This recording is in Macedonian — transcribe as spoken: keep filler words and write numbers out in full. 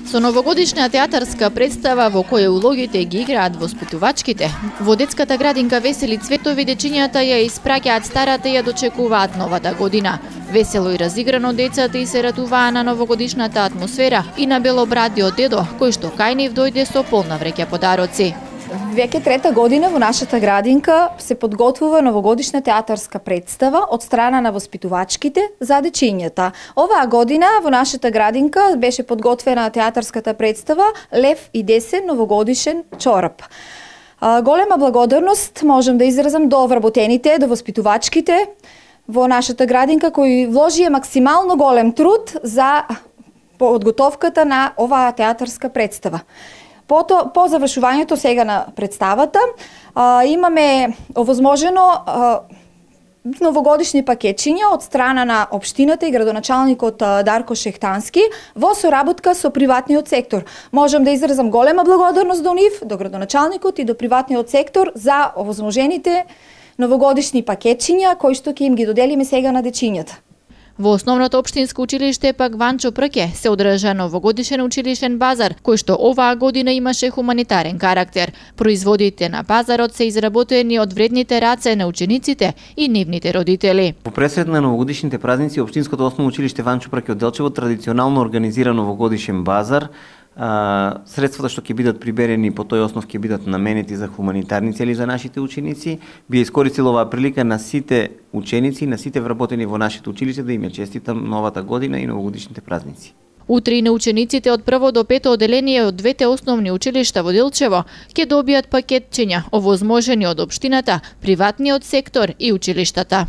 Со новогодишна театарска представа во која улогите ги играат воспитувачките, во детската градинка Весели цветови дечињата ја испраќаат старата и ја дочекуваат новата година. Весело и разиграно децата и се радуваа на новогодишната атмосфера и на белобрадиот дедо, кој што кај нив дојде со полна вреќа подароци. Веќе трета година во нашата градинка се подготвува новогодишна театарска представа од страна на воспитувачките за дечињата. Оваа година во нашата градинка беше подготвена театарската представа Лев и десен новогодишен чорап. Голема благодарност можам да изразам до вработените, до воспитувачките во нашата градинка кои вложија максимално голем труд за подготовката на оваа театарска представа. По, то, по завршувањето сега на представата а, имаме овозможено а, новогодишни пакетчиња од страна на општината и градоначалникот Дарко Шехтански во соработка со приватниот сектор. Можам да изразам голема благодарност до нив, до градоначалникот и до приватниот сектор за овозможените новогодишни пакетчиња кои што ќе им ги доделиме сега на дечињата. Во основното општинско училиште пак Ванчо Прке се одржа новогодишен училишен базар, кој што оваа година имаше хуманитарен карактер. Производите на базарот се изработени од вредните раце на учениците и нивните родители. Во пресред на новогодишните празници, општинското основно училиште Ванчо Прке од Делчево традиционално организира новогодишен базар. Uh, средствата што ќе бидат приберени по тој основ ќе бидат наменети за хуманитарни цели за нашите ученици. Би искористил оваа прилика на сите ученици, на сите вработени во нашето училиште да им ја честитам новата година и новогодишните празници. Утре и на учениците од прво до пето оделение од двете основни училишта во Делчево ќе добијат пакетчиња овозможени од општината, приватниот сектор и училиштата.